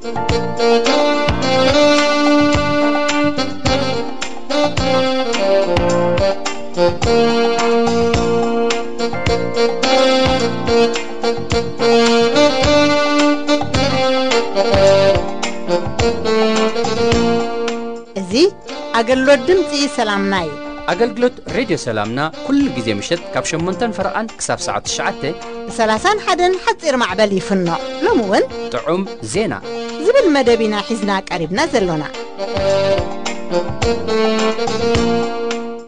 እዚ ኣገልግሎት ድምፂ ሰላምና እዩ። ኣገልግሎት ሬድዮ ሰላምና ኩሉ ግዜ ምሸት ካብ ሸሞንተን ፈረቓን ክሳብ ሰዓት ትሽዓተ ብ ሰላሳን ሓደን ሓፂር ማዕበል ይፍኖ። ሎሚ እውን ጥዑም ዜና ዝብል መደብ ኢና ሒዝና ቀሪብና ዘሎና።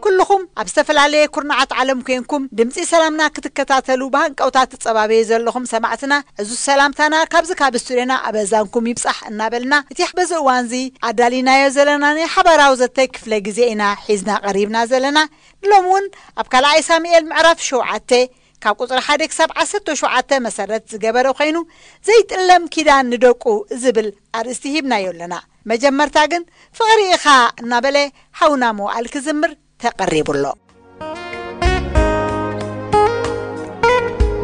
ኩልኹም ኣብ ዝተፈላለየ ኩርናዓት ዓለም ኮንኩም ድምፂ ሰላምና ክትከታተሉ ብሃንቀውታ ትጸባበዩ ዘለኹም ሰማዕትና፣ ዕዙዝ ሰላምታና ካብዚ ካብ ስቱድዮና ኣብ ኣዛንኩም ይብጻሕ እናበልና፣ እቲ በዚ እዋንዚ ኣዳሊናዮ ዘለና ናይ ሓባራዊ ዘተ ክፍለ ግዜ ኢና ሒዝና ቀሪብና ዘለና። ንሎሚ እውን ኣብ ካልኣይ ሳሙኤል ምዕራፍ ሸውዓተ ካብ ቁጽሪ ሓደ ክሳብ ዓሰርተ ሸውዓተ መሰረት ዝገበረ ኮይኑ፣ ዘይጥለም ኪዳን ንደቁ ዝብል ኣርእስቲ ሂብናዮ ኣለና። መጀመርታ ግን ፍቕሪ ኢኻ እናበለ ሓውና መዋእል ክዝምር ተቐሪቡ ኣሎ።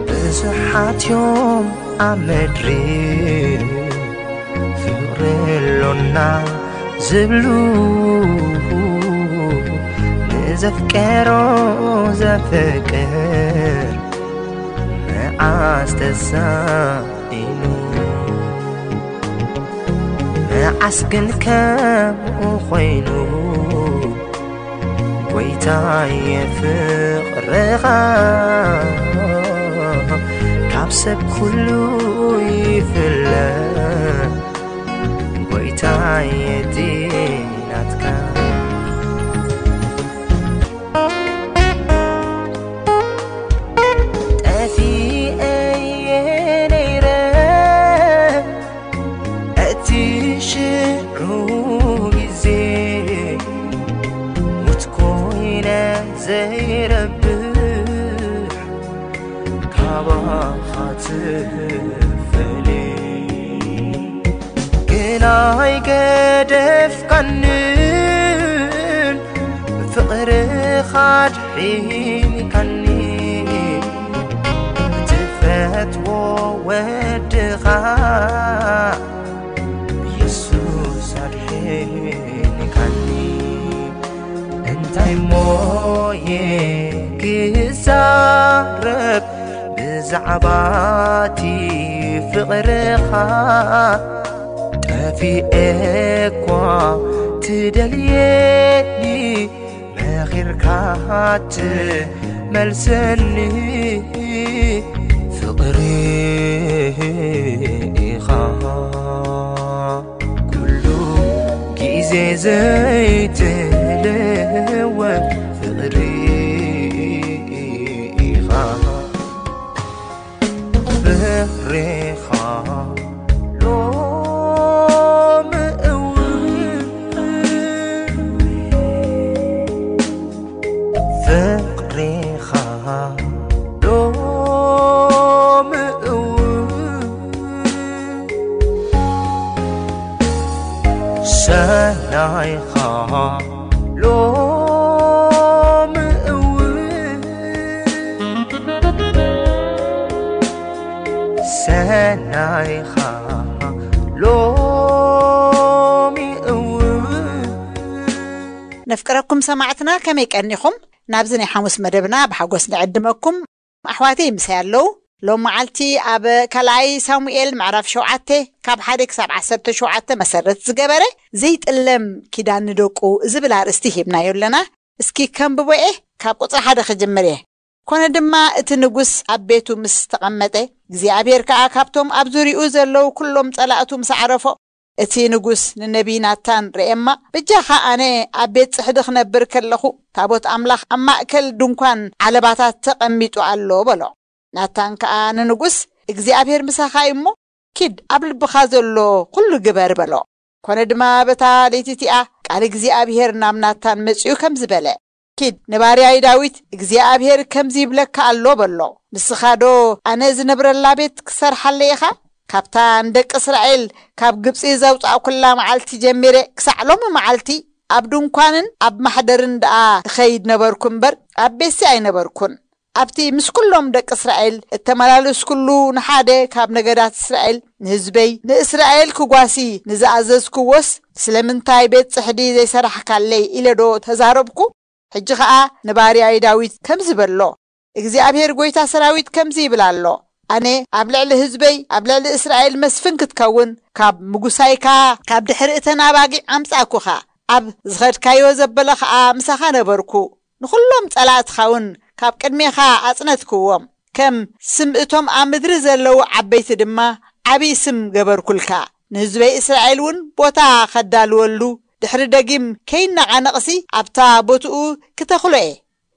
ብዙሓት እዮም ኣብ ምድሪ ፍቕሪ ኣሎና ዝብሉ፣ ንዘፍቀሮ ዘፍቅር መዓስ ተሳኢኑ። መዓስ ግን ከምኡ ኮይኑ፣ ጎይታየ ፍቕርኻ ካብ ሰብ ኩሉ ይፍለ። ጎይታየ እቲ ናትካ ጠፊኤ ነይረ እቲ ሽዑ ግዜ፣ ሙት ኮይነ ዘይረብሕ ካባኻ ትፈልየ። ግን ኣይገደፍካንን፣ ፍቕርኻ ኣድሒንካኒ። ትፈትዎ ወድኻ የሱስ ኣድሒንካኒ። እንታይ ሞየ ክዛረብ ብዛዕባ እቲ ፍቕርኻ? ጠፊኤ እኳ ትደልየኒ፣ መኺርካ ትመልሰኒ። ፍቕሪ ኢኻ ኩሉ ግዜ ዘይትልወጥ፣ ፍቕሪ ኢኻ ፍቕሪኻ ሎሚ እውን ፍቕሪኻ ሎሚ እውን ሰናይኻ ሎሚ እውን ሰናይኻ ሎሚ እውን። ነፍቅረኩም ሰማዕትና ከመይ ቀኒኹም? ናብዚ ናይ ሓሙስ መደብና ብሓጎስ ንዕድመኩም። ኣሕዋተይ ምሳይ ኣለዉ። ሎም መዓልቲ ኣብ ካልኣይ ሳሙኤል ምዕራፍ ሸውዓተ ካብ ሓደ ክሳብ ዓሰርተ ሸውዓተ መሰረት ዝገበረ ዘይጥለም ኪዳን ንደቁ ዝብል ኣርእስቲ ሂብናዮ ኣለና። እስኪ ከንብቦ እየ፣ ካብ ቁጽሪ ሓደ ክጅምር እየ። ኮነ ድማ እቲ ንጉስ ኣብ ቤቱ ምስ ተቐመጠ፣ እግዚኣብሔር ከኣ ካብቶም ኣብ ዙሪኡ ዘለዉ ኩሎም ጸላእቱ ምስ ኣዕረፎ፣ እቲ ንጉስ ንነቢይ ናታን ርኤማ፣ በጃኻ ኣነ ኣብ ቤት ጽሕዲ ክነብር ከለኹ፣ ታቦት ኣምላኽ ኣብ ማእከል ድንኳን ዓለባታት ተቐሚጡ ኣሎ በሎ። ናታን ከኣ ንንጉስ፣ እግዚኣብሔር ምሳኻ እዩ እሞ፣ ኪድ ኣብ ልብኻ ዘሎ ኩሉ ግበር በሎ። ኮነ ድማ በታ ለይቲ እቲኣ ቃል እግዚኣብሔር ናብ ናታን መጺኡ ከምዚ በለ፣ ኪድ ንባርያይ ዳዊት እግዚኣብሔር ከምዚ ይብለካ ኣሎ በሎ። ንስኻዶ ኣነ ዝነብረላ ቤት ክሰርሓለይ ኢኻ? ካብታ ንደቂ እስራኤል ካብ ግብጺ ዘውጻእኩላ መዓልቲ ጀሚረ ክሳዕ ሎሚ መዓልቲ ኣብ ድንኳንን ኣብ ማሕደርን ደኣ እኸይድ ነበርኩ እምበር ኣብ ቤትሲ ኣይነበርኩን። ኣብቲ ምስ ኩሎም ደቂ እስራኤል እተመላለስኩሉ ንሓደ ካብ ነገዳት እስራኤል ንህዝበይ ንእስራኤል ክጓሲ ንዝኣዘዝክዎስ ስለምንታይ ቤት ጽሕዲ ዘይሰራሕካለይ? ኢለ ዶ ተዛረብኩ? ሕጂ ኸኣ ንባርያይ ዳዊት ከምዚ በሎ፣ እግዚኣብሔር ጐይታ ሰራዊት ከምዚ ይብል ኣሎ፣ ኣነ ኣብ ልዕሊ ህዝበይ ኣብ ልዕሊ እስራኤል መስፍን ክትከውን ካብ ምጉሳይካ ካብ ድሕሪ እተን ኣባጊዕ ኣምጻእኩኻ። ኣብ ዝኸድካዮ ዘበለ ኸኣ ምሳኻ ነበርኩ። ንኹሎም ጸላእትኻ እውን ካብ ቅድሜኻ ኣጽነትክዎም። ከም ስም እቶም ኣብ ምድሪ ዘለዉ ዓበይቲ ድማ ዓብዪ ስም ገበርኩልካ። ንህዝበይ እስራኤል እውን ቦታ ኸዳልወሉ ድሕሪ ደጊም ከይነቓነቕሲ ኣብታ ቦትኡ ክተኽሎ እየ።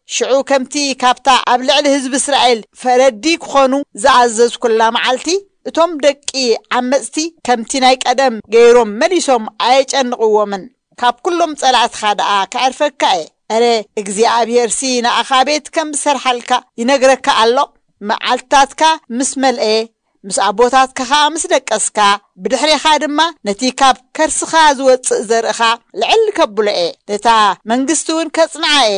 ሽዑ ከምቲ ካብታ ኣብ ልዕሊ ህዝቢ እስራኤል ፈረዲ ክኾኑ ዝኣዘዝኩላ መዓልቲ እቶም ደቂ ዓመጽቲ ከምቲ ናይ ቀደም ገይሮም መሊሶም ኣየጨንቕዎምን። ካብ ኩሎም ጸላእትኻ ደኣ ከዕርፈካ እየ። እረ እግዚኣብሔርሲ ንኣኻ ቤት ከም ዝሰርሓልካ ይነግረካ ኣሎ። መዓልትታትካ ምስ መልአ ምስ ኣቦታትካ ኸኣ ምስ ደቀስካ ብድሕሬኻ ድማ ነቲ ካብ ከርስኻ ዝወጽእ ዘርእኻ ልዕል ከብሎ እየ። ነታ መንግስቲ እውን ከጽንዓ እየ።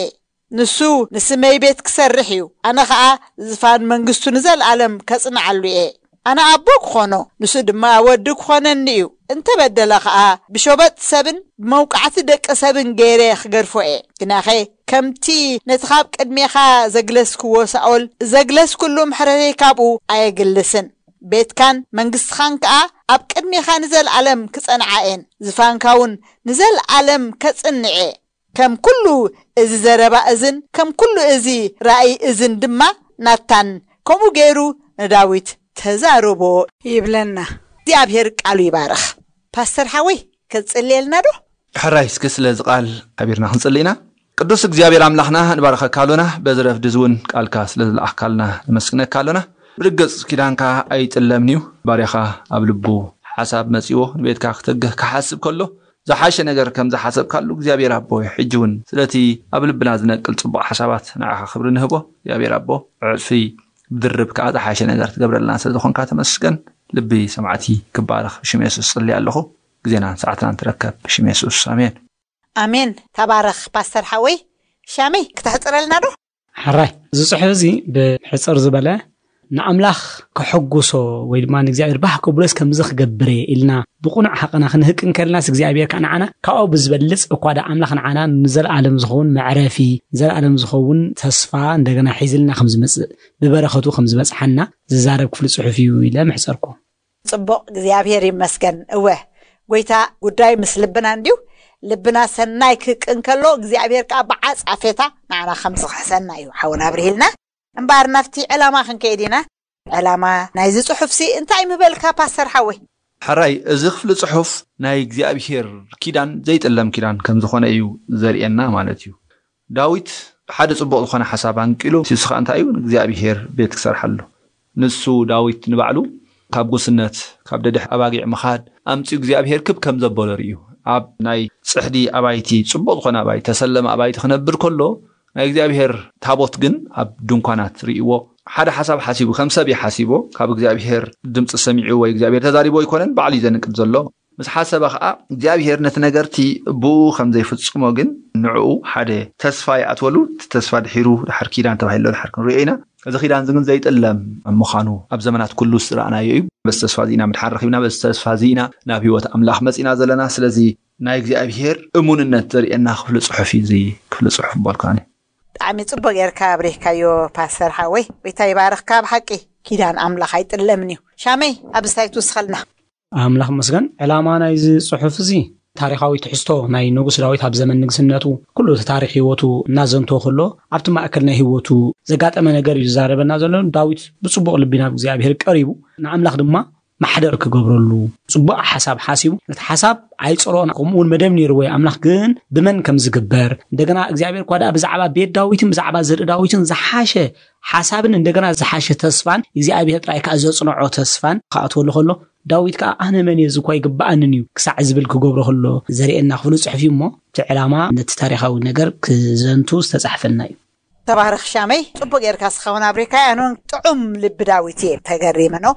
ንሱ ንስመይ ቤት ክሰርሕ እዩ። ኣነ ኸኣ ዝፋን መንግስቱ ንዘለኣለም ከጽንዓሉ እየ። ኣነ ኣቦ ክኾኖ ንሱ ድማ ወዲ ክኾነኒ እዩ። እንተ በደለ ኸኣ ብሸበጥ ሰብን ብመውቃዕቲ ደቂ ሰብን ገይረ ክገድፎ እየ። ግናኸ ከምቲ ነቲ ካብ ቅድሜኻ ዘግለስክዎ ሳኦል ዘግለስኩሉ ምሕረተይ ካብኡ ኣየግልስን። ቤትካን መንግስትኻን ከኣ ኣብ ቅድሜኻ ንዘለኣለም ክጸንዓ እየን። ዝፋንካ እውን ንዘለኣለም ከጽንዕ እየ። ከም ኩሉ እዚ ዘረባ እዝን ከም ኩሉ እዚ ራእይ እዝን ድማ ናታን ከምኡ ገይሩ ንዳዊት ተዛረቦ ይብለና። እግዚኣብሔር ቃሉ ይባርኽ። ፓስተር ሓወይ፣ ክትጽልየልና ዶ? ሕራይ እስኪ ስለዚ ቃል ሓቢርና ክንጽሊ ኢና። ቅዱስ እግዚኣብሔር ኣምላኽና ንባርኸካ ኣሎና፣ በዚ ረፍዲ እዚ እውን ቃልካ ስለ ዝለኣኽካልና ነመስግነካ ኣሎና። ብርግጽ ኪዳንካ ኣይጥለምን እዩ። ባርያኻ ኣብ ልቡ ሓሳብ መጺዎ ንቤትካ ክተግህ ክሓስብ ከሎ ዝሓሸ ነገር ከም ዝሓሰብካሉ እግዚኣብሔር ኣቦ ሕጂ እውን ስለቲ ኣብ ልብና ዝነቅል ጽቡቕ ሓሳባት ንዓኻ ክብሪ ንህቦ። እግዚኣብሔር ኣቦ ዕጽፊ ብድርብ ከኣ ዝሓሸ ነገር ትገብረልና ስለ ዝኾንካ ተመስገን። ልቢ ሰማዕቲ ክባረኽ ብሽም የሱስ ጽሊ ኣለኹ። ግዜናን ሰዓትናን ትረከብ ብሽም የሱስ ኣሜን። ኣሜን። ተባረኽ ፓስተር ሓወይ። ሻመይ ክተሕጽረልና ዶ? ሕራይ፣ እዚ ጽሑፍ እዚ ብሕጽር ዝበለ ንኣምላኽ ከሐጉሶ ወይ ድማ ንእግዚኣብሔር ባህ ከብሎስ ከምዚ ክገብር እየ ኢልና ብቕኑዕ ሓቕና ክንህቅ እንከልናስ እግዚኣብሔር ከዓ ንዓና ካብኡ ብዝበልጽ እኳ ደኣ ኣምላኽ ንዓና ንዘለኣለም ዝኸውን መዕረፊ፣ ንዘለኣለም ዝኸውን ተስፋ እንደገና ሒዝልና ከም ዝመጽእ ብበረኸቱ ከም ዝበጽሓና ዝዛረብ ክፍሊ ጽሑፍ እዩ ኢለ ምሕጸርኩ። ጽቡቕ እግዚኣብሔር ይመስገን። እወ ጎይታ ጉዳይ ምስ ልብና እንድዩ። ልብና ሰናይ ክቅ እንከሎ እግዚኣብሔር ከዓ ብዓጻፌታ ንዓና ከም ዝኽሕሰና እዩ ሓውና ኣብርሂልና። እምበኣር ናብቲ ዕላማ ክንከይድ ኢና። ዕላማ ናይዚ ጽሑፍሲ እንታይ ምበልካ ፓስተር ሓወይ? ሕራይ፣ እዚ ክፍሊ ጽሑፍ ናይ እግዚኣብሔር ኪዳን ዘይጥለም ኪዳን ከም ዝኾነ እዩ ዘርእየና ማለት እዩ። ዳዊት ሓደ ጽቡቕ ዝኾነ ሓሳብ ኣንቂሉ፣ ንሱ ኸኣ እንታይ እዩ? ንእግዚኣብሔር ቤት ክሰርሓሉ። ንሱ ዳዊት ንባዕሉ ካብ ጉስነት፣ ካብ ደድሕ ኣባጊዕ ምኻድ ኣምጺኡ እግዚኣብሔር ክብ ከም ዘበሎ ርእዩ። ኣብ ናይ ጽሕዲ ኣባይቲ፣ ጽቡቕ ዝኾነ ኣባይቲ፣ ተሰለመ ኣባይቲ ክነብር ከሎ፣ ናይ እግዚኣብሔር ታቦት ግን ኣብ ድንኳናት ርእይዎ። ሓደ ሓሳብ ሓሲቡ፣ ከም ሰብ እዩ ሓሲቦ። ካብ እግዚኣብሔር ድምጺ ሰሚዑ ወይ እግዚኣብሔር ተዛሪቦ ኣይኮነን፣ ባዕሉ እዩ ዘንቅድ ዘሎ። ምስ ሓሰበ ኸኣ እግዚኣብሔር ነቲ ነገርቲ ብኡ ከም ዘይፍጽሞ ግን ንዕኡ ሓደ ተስፋ ይኣትወሉ። እቲ ተስፋ ድሒሩ ድሓር ኪዳን ተባሂሉ ድሓር ክንሪኦ ኢና። እዚ ኪዳን እዚ ግን ዘይጥለም ምዃኑ ኣብ ዘመናት ኩሉ ዝረኣናዮ እዩ። በዚ ተስፋ እዚ ኢና ምድሓር ረኺብና፣ በዚ ተስፋ እዚ ኢና ናብ ህይወት ኣምላኽ መጺና ዘለና። ስለዚ ናይ እግዚኣብሔር እሙንነት ዘርእየና ክፍሊ ጽሑፍ እዩ እዚ ክፍሊ ጽሑፍ ምባልኩ ኣነ። ብጣዕሚ ጽቡቅ ጌርካ ኣብሪህካዮ ፓስተር ሓወይ። ጎይታ ይባርኽካ። ብሓቂ ኪዳን ኣምላኽ ኣይጥለምን እዩ። ሻመይ፣ ኣብዚ እንታይ ትውስኸልና? ኣምላኽ መስገን። ዕላማ ናይዚ ጽሑፍ እዚ ታሪኻዊ ትሕዝቶ ናይ ንጉስ ዳዊት ኣብ ዘመን ንግስነቱ ኩሉ እቲ ታሪኽ ህይወቱ እናዘንቶ ከሎ ኣብቲ ማእከል ናይ ህይወቱ ዘጋጠመ ነገር እዩ ዝዛረበና ዘሎ። ዳዊት ብጽቡቕ ልቢ ናብ እግዚኣብሔር ቀሪቡ ንኣምላኽ ድማ ማሕደር ክገብረሉ ጽቡቕ ሓሳብ ሓሲቡ፣ ነቲ ሓሳብ ኣይጸልኦን፣ ከምኡ እውን መደብ ነይርዎ እዩ። ኣምላኽ ግን ብመን ከም ዝግበር፣ እንደገና እግዚኣብሔር እኳ ደኣ ብዛዕባ ቤት ዳዊትን ብዛዕባ ዘርኢ ዳዊትን ዝሓሸ ሓሳብን እንደገና ዝሓሸ ተስፋን እግዚኣብሔር ጥራይ ከኣ ዘጽንዖ ተስፋን ክኣትወሉ ከሎ፣ ዳዊት ከኣ ኣነ መን እየ፣ እዚ እኳ ኣይግብኣንን እዩ ክሳዕ ዝብል ክገብሮ ከሎ ዘርእየና ክፍሊ ጽሑፍ እዩ። እሞ እቲ ዕላማ ነቲ ታሪኻዊ ነገር ክዘንቱ ዝተጻሕፈልና እዩ። ተባረኽ ሻመይ፣ ጽቡቕ ጌርካ እስኻ እውን ኣብሪካዮ። ኣነ እውን ጥዑም ልቢ ዳዊት እየ ተገሪመ ነው።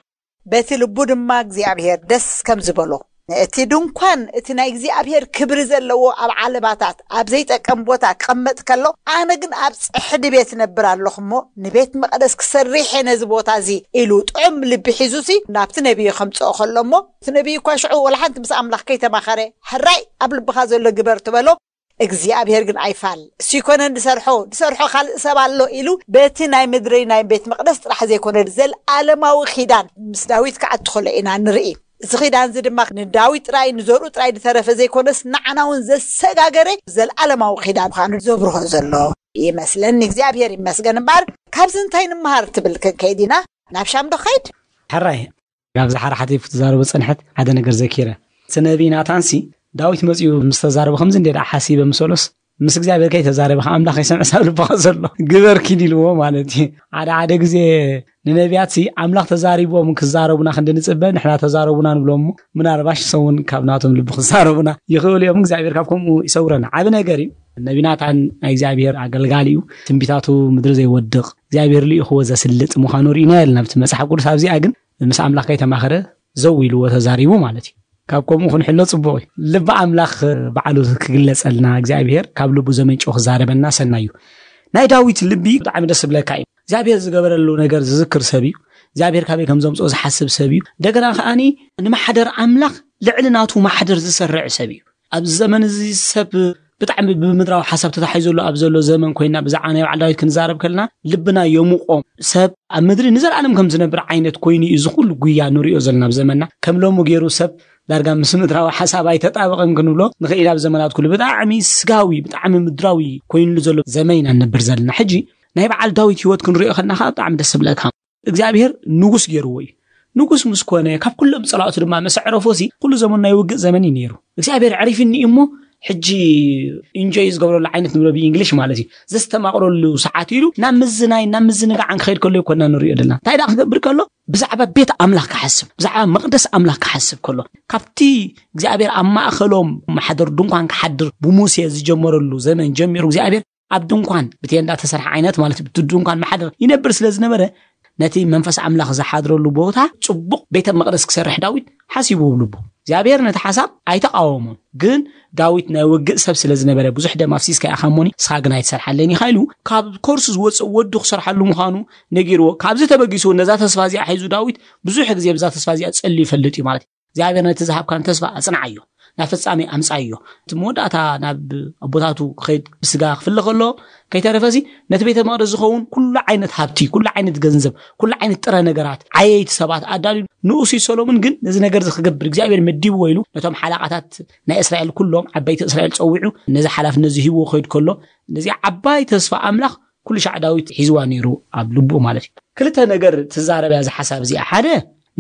በቲ ልቡ ድማ እግዚኣብሔር ደስ ከም ዝበሎ እቲ ድንኳን፣ እቲ ናይ እግዚኣብሔር ክብሪ ዘለዎ ኣብ ዓለባታት ኣብ ዘይጠቀም ቦታ ክቐመጥ ከሎ፣ ኣነ ግን ኣብ ጽሕዲ ቤት ነብር ኣለኹ እሞ፣ ንቤት መቕደስ ክሰርሕ እየ ነዚ ቦታ እዚ ኢሉ ጥዑም ልቢ ሒዙሲ ናብቲ ነቢይ ከምጽኦ ከሎ እሞ፣ እቲ ነቢይ እኳ ሽዑ ወላ ሓንቲ ምስ ኣምላኽ ከይተማኸረ፣ ሕራይ ኣብ ልብኻ ዘሎ ግበር ትበሎ። እግዚኣብሔር ግን ኣይፋል፣ እሱ ይኮነን ዝሰርሖ፣ ዝሰርሖ ካልእ ሰብ ኣሎ ኢሉ በቲ ናይ ምድሪ ናይ ቤት መቕደስ ጥራሕ ዘይኮነ፣ ዘለዓለማዊ ኪዳን ምስ ዳዊት ክኣቱ ከሎ ኢና ንርኢ። እዚ ኪዳን እዚ ድማ ንዳዊት ጥራይ፣ ንዘርኡ ጥራይ ዝተረፈ ዘይኮነስ፣ ንዓና እውን ዘሰጋገረ ዘለዓለማዊ ኪዳን ምዃኑ ዘብርሆ ዘሎ ይመስለኒ። እግዚኣብሔር ይመስገን። እምበኣር ካብዚ እንታይ ንምሃር ትብል ክንከይድ ኢና? ናብ ሻም ዶ ኸይድ? ሕራይ፣ ካብዚ ሓራሓቲ ክትዛረቦ ጸንሐት ሓደ ነገር ዘኪረ። እቲ ነቢይ ናታንሲ ዳዊት መጺኡ ምስ ተዛረበ ከምዚ እንዴ ደኣ ሓሲበ ምሰሎስ፣ ምስ እግዚኣብሔር ከይተዛረበ ከኣ ኣምላኽ ይሰምዕ ሳብ ልብኻ ዘሎ ግበር ኪድ ኢልዎ ማለት እዩ። ሓደ ሓደ ግዜ ንነቢያትሲ ኣምላኽ ተዛሪቦም ክዛረቡና ክንዲ ንጽበ፣ ንሕና ተዛረቡና ንብሎም እሞ፣ ምናልባሽ ንሶም እውን ካብ ናቶም ልቢ ክዛረቡና ይኽእሉ እዮም። እግዚኣብሔር ካብ ከምኡ ይሰውረና። ዓቢ ነገር እዩ። ነቢ ናታን ናይ እግዚኣብሔር ኣገልጋሊ እዩ። ትንቢታቱ ምድሪ ዘይወድቕ፣ እግዚኣብሔር ልኢኽዎ ዘስልጥ ምዃኑ ርኢና የለና ኣብቲ መጽሓፍ ቅዱስ። ኣብዚኣ ግን ምስ ኣምላኽ ከይተማኸረ ዘው ኢልዎ ተዛሪቡ ማለት እዩ። ካብ ከምኡ ክንሕሎ ጽቡቕ እዩ። ልቢ ኣምላኽ ባዕሉ ክግለጸልና እግዚኣብሔር ካብ ልቡ ዘመንጭ ክዛረበና ሰናይ እዩ። ናይ ዳዊት ልቢ ብጣዕሚ ደስ ዝብለካ እዩ። እግዚኣብሔር ዝገበረሉ ነገር ዝዝክር ሰብ እዩ። እግዚኣብሔር ካበይ ከም ዘምጽኦ ዝሓስብ ሰብ እዩ። እንደገና ከኣኒ ንማሕደር ኣምላኽ ልዕሊ ናቱ ማሕደር ዝሰርዕ ሰብ እዩ። ኣብዚ ዘመን እዚ ሰብ ብጣዕሚ ብምድራዊ ሓሳብ ተታሒዙ ዘሎ ኣብ ዘሎ ዘመን ኮይና ብዛዕባ ናይ በዓል ዳዊት ክንዛረብ ከለና ልብና የሙቖ። ሰብ ኣብ ምድሪ ንዘለኣለም ከም ዝነብር ዓይነት ኮይኑ እዩ እዚ ኩሉ ጉያ ንሪኦ ዘለና ኣብ ዘመንና። ከም ሎሚ ገይሩ ሰብ ዳርጋ ምስ ምድራዊ ሓሳብ ኣይተጣበቐን ክንብሎ ንኽእል። ኣብ ዘመናት ኩሉ ብጣዕሚ ስጋዊ፣ ብጣዕሚ ምድራዊ ኮይኑሉ ዘሎ ዘመን ኢና ንነብር ዘለና። ሕጂ ናይ በዓል ዳዊት ህይወት ክንሪኦ ከለና ከዓ ብጣዕሚ ደስ ዝብለካ። እግዚኣብሔር ንጉስ ገይርዎ እዩ። ንጉስ ምስ ኮነ ካብ ኩሎም ጸላእቱ ድማ ምስ ኣዕረፎ ሲ ኩሉ ዘመኑ ናይ ውግእ ዘመን እዩ ነይሩ። እግዚኣብሔር ኣዕሪፍኒ እዩ እሞ ሕጂ ኢንጆይ ዝገብረሉ ዓይነት ንብሎ ብእንግሊሽ ማለት እዩ ዘስተማቕረሉ ሰዓት ኢሉ ናብ ምዝናይ ናብ ምዝንጋዕ ክኸይድ ከሎ ይኮና ንሪኦ ዘለና። እንታይ ደኣ ክገብር ከሎ ብዛዕባ ቤት ኣምላኽ ክሓስብ ብዛዕባ መቕደስ ኣምላኽ ክሓስብ ከሎ ካብቲ እግዚኣብሔር ኣብ ማእኸሎም ማሕደር ድንኳን ክሓድር ብሙሴ ዝጀመረሉ ዘመን ጀሚሩ እግዚኣብሔር ኣብ ድንኳን ብቴንዳ ተሰርሐ ዓይነት ማለት እዩ። ብቲ ድንኳን ማሕደር ይነብር ስለ ዝነበረ ነቲ መንፈስ ኣምላኽ ዝሓድረሉ ቦታ ጽቡቕ ቤተ መቕደስ ክሰርሕ ዳዊት ሓሲቡ ኣብ ልቡ። እግዚኣብሔር ነቲ ሓሳብ ኣይተቃወሞን። ግን ዳዊት ናይ ውግእ ሰብ ስለ ዝነበረ ብዙሕ ደም ኣፍሲስካ ኢኻ እሞኒ ንስኻ ግን ኣይትሰርሓለይን ኢኻ ኢሉ ካብ ኮርሱ ዝወፅእ ወዱ ክሰርሓሉ ምዃኑ ነጊርዎ። ካብዚ ተበጊሱ ነዛ ተስፋ እዚኣ ሒዙ ዳዊት ብዙሕ ግዜ ብዛ ተስፋ እዚኣ ጸልዩ ይፈልጥ እዩ ማለት እዩ። እግዚኣብሔር ነቲ ዝሃብካን ተስፋ ኣጽንዓዮ፣ ናብ ፍጻሜ ኣምጻዮ። እቲ መወዳእታ ናብ ኣቦታቱ ክኸይድ ብስጋ ክፍለ ከሎ ከይተረፈሲ ነቲ ቤተ መቕደስ ዝኸውን ኩሉ ዓይነት ሃብቲ፣ ኩሉ ዓይነት ገንዘብ፣ ኩሉ ዓይነት ጥረ ነገራት ዓየይቲ ሰባት ኣዳልዩ ንኡሲ ሰሎሞን ግን ነዚ ነገር እዚ ክገብር እግዚኣብሔር መዲብዎ ኢሉ ነቶም ሓላቓታት ናይ እስራኤል ኩሎም ዓበይቲ እስራኤል ጸዊዑ ነዚ ሓላፍነት እዚ ሂብዎ ክኸይድ ከሎ ነዚ ዓባይ ተስፋ ኣምላኽ ኩሉ ሻዕ ዳዊት ሒዝዋ ነይሩ ኣብ ልቡ ማለት እዩ። ክልተ ነገር ትዛረብ እያ እዛ ሓሳብ እዚኣ። ሓደ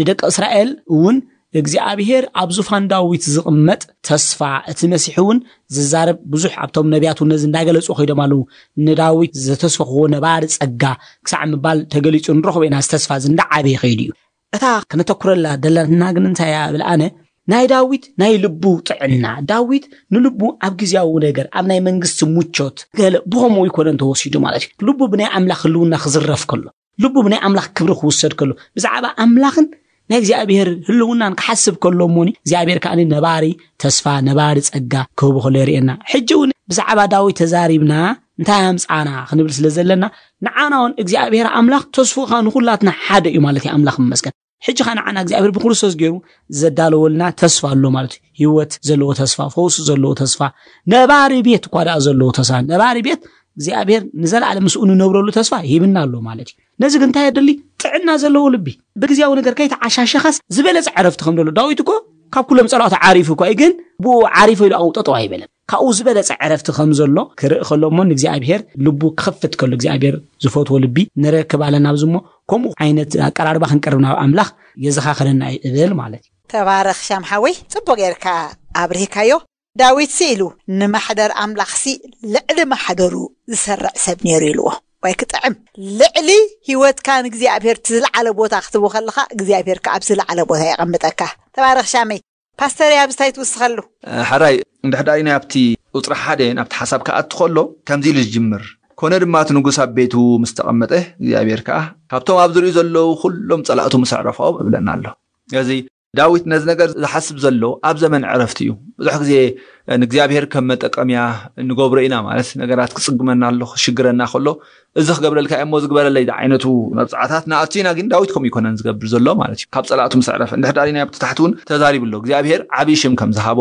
ንደቂ እስራኤል እውን እግዚኣብሔር ኣብ ዙፋን ዳዊት ዝቕመጥ ተስፋ እቲ መሲሕ እውን ዝዛረብ ብዙሕ ኣብቶም ነቢያት እውን ነዚ እንዳገለጹ ከይዶም ኣለዉ። ንዳዊት ዘተስፈኽዎ ነባሪ ጸጋ ክሳዕ ምባል ተገሊጹ ንረኽቦ ኢና። እዚ ተስፋ እዚ እንዳዓበየ ከይዱ እዩ። እታ ክነተኩረላ ደለና ግን እንታይ እያ ብል ኣነ ናይ ዳዊት ናይ ልቡ ጥዕና ዳዊት ንልቡ ኣብ ግዜያዊ ነገር ኣብ ናይ መንግስቲ ሙቾት ገለ ብኸምኡ ይኮነን ተወሲዱ ማለት እዩ። ልቡ ብናይ ኣምላኽ ህልውና ክዝረፍ ከሎ ልቡ ብናይ ኣምላኽ ክብሪ ክውሰድ ከሎ ብዛዕባ ኣምላኽን ናይ እግዚኣብሔር ህልውናን ክሓስብ ከሎ እሞኒ እግዚኣብሔር ከዓ ነባሪ ተስፋ ነባሪ ጸጋ ክህቡ ከሎ የርእየና። ሕጂ እውን ብዛዕባ ዳዊት ተዛሪብና እንታይ ኣምፃና ክንብል ስለ ዘለና ንዓና እውን እግዚኣብሔር ኣምላኽ ተስፉኻ ንኩላትና ሓደ እዩ ማለት እዩ። ኣምላኽ ይመስገን። ሕጂ ኸዓ ንዓና እግዚኣብሔር ብክርስቶስ ገይሩ ዘዳለወልና ተስፋ ኣሎ ማለት እዩ። ህይወት ዘለዎ ተስፋ ፈውሲ ዘለዎ ተስፋ ነባሪ ቤት እኳ ደኣ ዘለዎ ተስፋ ነባሪ ቤት እግዚኣብሔር ንዘለኣለም ምስኡ ንነብረሉ ተስፋ ሂብና ኣሎ ማለት እዩ። ነዚ ግን እንታይ የድሊ? ጥዕና ዘለዎ ልቢ። ብግዜያዊ ነገር ከይተዓሻሸኻስ ዝበለጸ ዕረፍቲ ከም ዘሎ ዳዊት እኮ ካብ ኩሎም ጸላእቱ ዓሪፉ እኳ እዩ ግን ብኡ ዓሪፈ ኢሉ ኣብኡ ጠጠው ኣይበለን። ካብኡ ዝበለጸ ዕረፍቲ ከም ዘሎ ክርኢ ከሎ እሞ ንእግዚኣብሔር ልቡ ክኸፍት ከሎ እግዚኣብሔር ዝፈትዎ ልቢ ንረክብ ኣለና ኣብዚ እሞ ከምኡ ዓይነት ኣቀራርባ ክንቀርብ ናብ ኣምላኽ የዘኻኽረና እዩ እብል ማለት እዩ። ተባረኽ ሻም ሓወይ፣ ጽቡቕ ጌርካ ኣብሪህካዮ። ዳዊትሲ ኢሉ ንማሕደር ኣምላኽሲ ልዕሊ ማሕደሩ ዝሰርዕ ሰብ ነይሩ ኢልዎ። ወይ ክጥዕም! ልዕሊ ህይወትካ ንእግዚኣብሔር እቲ ዝለዓለ ቦታ ክትቦ ከለኻ እግዚኣብሔር ከኣ ኣብ ዝለዓለ ቦታ የቐምጠካ። ተባረኽ ሻመይ። ፓስተር ኣብዚ እንታይ ትውስኸሉ? ሕራይ እንድሕዳይ ናይ ኣብቲ ቁፅሪ ሓደ ናብቲ ሓሳብ ክኣቱ ከሎ ከምዚ ኢሉ ዝጅምር ኮነ ድማ እቲ ንጉስ ኣብ ቤቱ ምስ ተቐመጠ እግዚኣብሔር ከዓ ካብቶም ኣብ ዝሪኡ ዘለዉ ኩሎም ፀላእቱ ምስ ኣዕረፎም እብለና ኣሎ። እዚ ዳዊት ነዚ ነገር ዝሓስብ ዘሎ ኣብ ዘመን ዕረፍቲ እዩ። ብዙሕ ግዜ ንእግዚኣብሔር ከም መጠቀምያ ንገብሮ ኢና። ማለት፣ ነገራት ክጽግመና ኣሎ፣ ክሽግረና ከሎ፣ "እዚ ክገብረልካ እየ እሞ ዝግበረለይ" ዝዓይነቱ መብጽዓታት ንኣቱ ኢና። ግን ዳዊት ከምኡ ይኮነን ዝገብር ዘሎ ማለት እዩ። ካብ ጸላእቱ ምስ ዕረፈ፣ እንድሕር ዳሪና ኣብቲ ታሕቲ እውን ተዛሪቡ ኣሎ። እግዚኣብሔር ዓብዪ ሽም ከም ዝሃቦ፣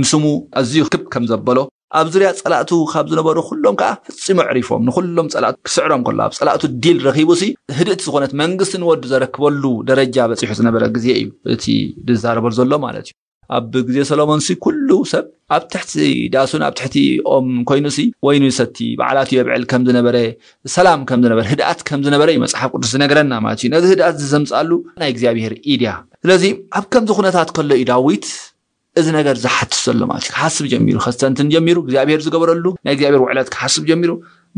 ንስሙ ኣዝዩ ክብ ከም ዘበሎ፣ ኣብ ዙርያ ጸላእቱ ካብ ዝነበሩ ኩሎም ከዓ ፈጺሙ ኣዕሪፎም፣ ንኩሎም ጸላእቱ ክስዕሮም ከሎ፣ ኣብ ጸላእቱ ዲል ረኺቡ ሲ፣ ህድእቲ ዝኾነት መንግስቲ ንወዱ ዘረክበሉ ደረጃ በጺሑ ዝነበረ ግዜ እዩ እቲ ዝዛረበሉ ዘሎ ማለት እዩ። ኣብ ግዜ ሰሎሞን ሲ ኩሉ ሰብ ኣብ ትሕቲ ዳሱን ኣብ ትሕቲ ኦም ኮይኑ ሲ፣ ወይኑ ይሰቲ፣ በዓላቱ የብዕል ከም ዝነበረ፣ ሰላም ከም ዝነበረ፣ ህድኣት ከም ዝነበረ እዩ መጽሓፍ ቅዱስ ዝነግረና ማለት እዩ። ነዚ ህድኣት እዚ ዘምጽኣሉ ናይ እግዚኣብሔር ኢድ እያ። ስለዚ ኣብ ከምዚ ኩነታት ከሎ እዩ ዳዊት እዚ ነገር ዝሓትት ዘሎ ማለት እዩ። ክሓስብ ጀሚሩ፣ ከስተንትን ጀሚሩ፣ እግዚኣብሔር ዝገበረሉ ናይ እግዚኣብሔር ውዕለት ክሓስብ ጀሚሩ።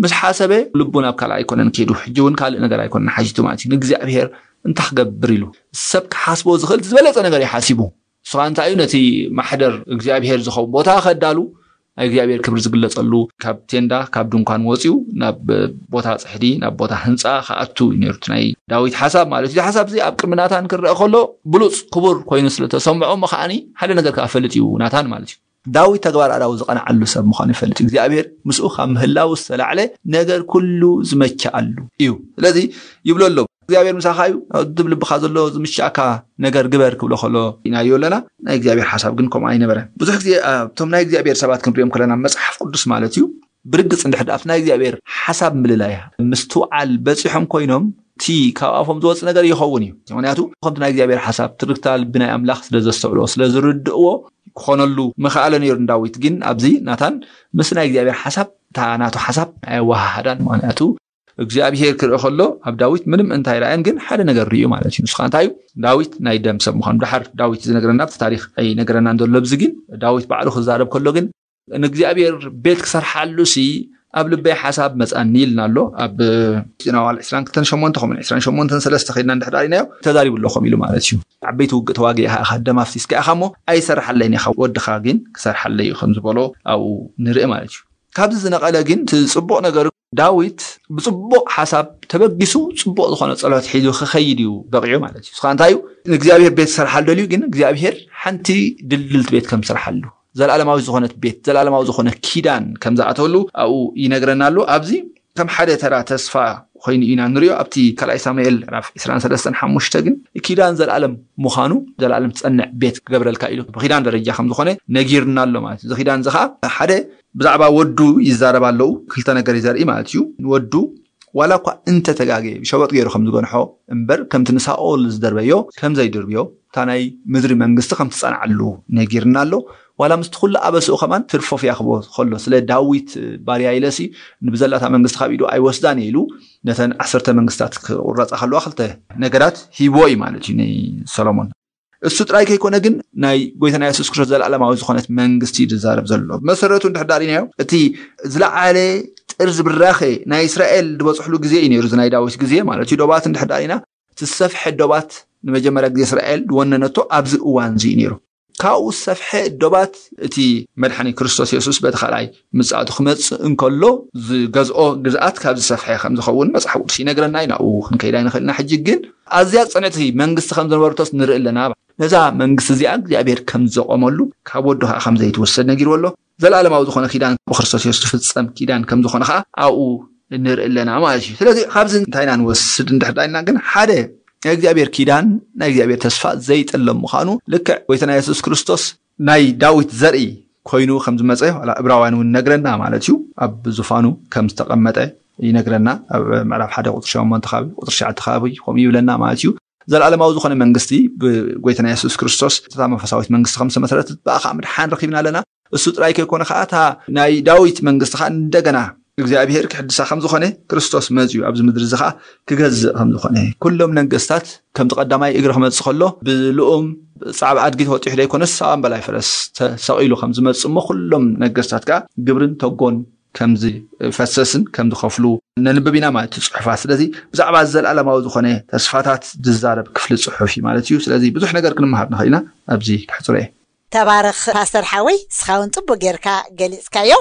ምስ ሓሰበ ልቡ ናብ ካልእ ኣይኮነን ከይዱ፣ ሕጂ እውን ካልእ ነገር ኣይኮነን ሓቲቱ ማለት እዩ። ንእግዚኣብሔር እንታይ ክገብር ኢሉ ሰብ ክሓስቦ ዝኽእል ዝበለጸ ነገር እዩ ሓሲቡ። ንሱ ኸኣ እንታይ እዩ? ነቲ ማሕደር እግዚኣብሔር ዝኸውን ቦታ ከዳሉ፣ ናይ እግዚኣብሔር ክብሪ ዝግለጸሉ፣ ካብ ቴንዳ፣ ካብ ድንኳን ወጺኡ ናብ ቦታ ጽሕዲ፣ ናብ ቦታ ህንጻ ክኣቱ እዩ ነይሩ እቲ ናይ ዳዊት ሓሳብ ማለት እዩ። እዚ ሓሳብ እዚ ኣብ ቅድሚ ናታን ክረአ ከሎ ብሉጽ ክቡር ኮይኑ ስለ ተሰምዖ እሞ ከዓኒ ሓደ ነገር ከኣ ፈልጥ እዩ ናታን ማለት እዩ። ዳዊት ተግባር ኣዳዊ ዝቐንዓሉ ሰብ ምዃኑ ይፈልጥ እዩ። እግዚኣብሔር ምስኡ ካብ ምህላው ዝተላዕለ ነገር ኩሉ ዝመቸኣሉ እዩ። ስለዚ ይብሎ ኣሎ፣ "እግዚኣብሔር ምሳኻ እዩ፣ ኣብ ድብ ልብኻ ዘሎ ዝምችኣካ ነገር ግበር" ክብሎ ከሎ ኢናዮ ኣለና። ናይ እግዚኣብሔር ሓሳብ ግን ከምኡ ኣይነበረን። ብዙሕ ግዜ ኣብቶም ናይ እግዚኣብሔር ሰባት ክንሪኦም ከለና፣ መጽሓፍ ቅዱስ ማለት እዩ፣ ብርግጽ እንድሕር ኣብቲ ናይ እግዚኣብሔር ሓሳብ ምልላያ ምስትውዓል በጺሖም ኮይኖም፣ እቲ ካብ ኣፎም ዝወጽእ ነገር ይኸውን እዩ። ምኽንያቱ ከምቲ ናይ እግዚኣብሔር ሓሳብ ትርግታ ልቢ ናይ ኣምላኽ ስለ ዘስተውዕልዎ፣ ስለ ዝርድእዎ ክኾነሉ ምኽኣለ ነይሩ ንዳዊት። ግን ኣብዚ ናታን ምስ ናይ እግዚኣብሔር ሓሳብ፣ እታ ናቱ ሓሳብ ኣየወሃሃዳን። ምኽንያቱ እግዚኣብሔር ክርኢ ከሎ ኣብ ዳዊት ምንም እንታይ ረኣየን፣ ግን ሓደ ነገር ርእዩ ማለት እዩ። ንሱ ኸኣ እንታይ እዩ? ዳዊት ናይ ደም ሰብ ምዃኑ። ድሓር ዳዊት ዝነግረና ኣብቲ ታሪኽ ኣይነግረናን ዘሎ። ኣብዚ ግን ዳዊት ባዕሉ ክዛረብ ከሎ ግን፣ "ንእግዚኣብሔር ቤት ክሰርሓሉ ሲ ኣብ ልበይ ሓሳብ መጻኒ" ኢልና ኣሎ። ኣብ ዜና መዋዕል ዕስራን ክልተን ሸሞንተ ከምኡ ዕስራን ሸሞንተን ሰለስተ ከይድና እንድሕር ዳሪናዮ፣ ተዛሪቡ ኣሎ ከምኡ ኢሉ ማለት እዩ። "ዓበይቲ ውግእ ተዋጊእኻ ኢኻ፣ ደም ኣፍሲስካ ኢኻ እሞ ኣይሰርሓለይን ኢኻ፣ ወድኻ ግን ክሰርሓለይ እዩ" ከም ዝበሎ ኣብኡ ንርኢ ማለት እዩ። ካብዚ ዝነቐለ ግን እቲ ጽቡቕ ነገር፣ ዳዊት ብጽቡቕ ሓሳብ ተበጊሱ ጽቡቕ ዝኾነ ጸሎት ሒዙ ክኸይድ እዩ በቒዑ ማለት እዩ። ንሱ ኸኣ እንታይ እዩ? ንእግዚኣብሔር ቤት ክሰርሓሉ ደልዩ፣ ግን እግዚኣብሔር ሓንቲ ድልድልቲ ቤት ከም ዝሰርሓሉ፣ ዘለኣለማዊ ዝኾነት ቤት፣ ዘለኣለማዊ ዝኾነ ኪዳን ከም ዝኣተወሉ ኣብኡ ይነግረና ኣሎ። ኣብዚ ከም ሓደ ተራ ተስፋ ኮይኑ ኢና ንሪኦ። ኣብቲ ካልኣይ ሳሙኤል ምዕራፍ ዕስራን ሰለስተን ሓሙሽተ ግን ኪዳን ዘለኣለም ምዃኑ፣ ዘለኣለም ትጸንዕ ቤት ክገብረልካ ኢሉ ብኪዳን ደረጃ ከም ዝኾነ ነጊርና ኣሎ ማለት እዩ። እዚ ኪዳን እዚ ኸኣ ሓደ ብዛዕባ ወዱ ይዛረብ ኣለዉ። ክልተ ነገር እዩ ዘርኢ ማለት እዩ። ንወዱ ዋላ እኳ እንተተጋገየ ብሸበጥ ገይሩ ከም ዝገንሖ እምበር፣ ከምቲ ንሳኦል ዝደርበዮ ከም ዘይድርብዮ፣ እታ ናይ ምድሪ መንግስቲ ከም ትጸንዓሉ ነጊርና ኣሎ። ዋላ ምስቲ ኩሉ ኣበስኡ ከማን ትርፎ ፍያ ክቦ ከሎ፣ ስለ ዳዊት ባርያ ኢለሲ ንብዘላታ መንግስቲ ካብ ኢዱ ኣይወስዳን እየ ኢሉ፣ ነተን ዓሰርተ መንግስታት ክቁረጻ ከለዋ ክልተ ነገራት ሂቦ እዩ ማለት እዩ ንሰሎሞን። እሱ ጥራይ ከይኮነ ግን ናይ ጎይታና የሱስ ክርስቶስ ዘለኣለማዊ ዝኾነት መንግስቲ እዩ ዝዛረብ ዘሎ። ብመሰረቱ እንድሕር ዳሪናዮ፣ እቲ ዝለዓለ ጥርዚ ብራኸ ናይ እስራኤል ዝበጽሕሉ ግዜ እዩ ነይሩ፣ እዚ ናይ ዳዊት ግዜ ማለት እዩ። ዶባት እንድሕር ዳሪና፣ እቲ ዝሰፍሐ ዶባት ንመጀመርያ ግዜ እስራኤል ዝወነነቶ ኣብዚ እዋን እዚ እዩ ነይሩ። ካብኡ ዝሰፍሐ ዶባት እቲ መድሓኒ ክርስቶስ የሱስ በቲ ካልኣይ ምጽኣቱ ክመጽእ እንከሎ ዝገዝኦ ግዝኣት ካብ ዝሰፍሐ ከም ዝኸውን መጽሓፍ ቅዱስ ይነግረና እዩ። ናብኡ ክንከይድ ኣይንኽእልና። ሕጂ ግን ኣዝያ ጽንዕቲ መንግስቲ ከም ዝነበረቶስ ንርኢ ኣለና። ነዛ መንግስቲ እዚኣ እግዚኣብሔር ከም ዘቆመሉ፣ ካብ ወዱ ኸዓ ከም ዘይትወሰድ ነጊርዎ ኣሎ። ዘለኣለማዊ ዝኾነ ኪዳን ብክርስቶስ የሱስ ዝፍጸም ኪዳን ከም ዝኾነ ኸዓ ኣብኡ ንርኢ ኣለና ማለት እዩ። ስለዚ ካብዚ እንታይ ኢና ንወስድ እንድሕር ዳይልና ግን፣ ሓደ ናይ እግዚኣብሔር ኪዳን፣ ናይ እግዚኣብሔር ተስፋ ዘይጥለም ምዃኑ፣ ልክዕ ጎይታና የሱስ ክርስቶስ ናይ ዳዊት ዘርኢ ኮይኑ ከም ዝመጸ ዋላ ዕብራውያን እውን ይነግረና ማለት እዩ። ኣብ ዙፋኑ ከም ዝተቐመጠ ይነግረና። ኣብ ምዕራፍ ሓደ ቁጽሪ ሸሞንተ ከባቢ፣ ቁጽሪ ትሽዓተ ከባቢ ከምኡ ይብለና ማለት እዩ። ዘለኣለማዊ ዝኾነ መንግስቲ ብጎይታና የሱስ ክርስቶስ እታ መንፈሳዊት መንግስቲ ከም ዝተመስረተት፣ ብኣ ከዓ ምድሓን ረኺብና ኣለና። እሱ ጥራይ ከይኮነ ከዓ፣ እታ ናይ ዳዊት መንግስቲ ከዓ እንደገና እግዚኣብሔር ክሕድሳ ከም ዝኾነ፣ ክርስቶስ መጺኡ ኣብዚ ምድሪ እዚ ከዓ ክገዝእ ከም ዝኾነ፣ ኩሎም ነገስታት ከምቲ ቀዳማይ እግሪ ክመጽእ ከሎ ብልኡም ጻዕቢ ኣድጊ ተወጢሑ ዘይኮነስ፣ ኣብ ኣምባላይ ፈረስ ተሰቒሉ ከም ዝመጽእ እሞ፣ ኩሎም ነገስታት ከዓ ግብርን ተጎን ከም ዝፈሰስን ከም ዝኸፍሉ ነንብብ ኢና ማለት እዩ ጽሑፋት። ስለዚ ብዛዕባ ዘለኣለማዊ ዝኾነ ተስፋታት ዝዛረብ ክፍሊ ጽሑፍ እዩ ማለት እዩ። ስለዚ ብዙሕ ነገር ክንመሃር ንኽእል ኢና። ኣብዚ ከሕጽሮ እየ። ተባረኽ ፓስተር ሓወይ፣ ንስኻ እውን ጽቡቕ ጌርካ ገሊጽካዮ።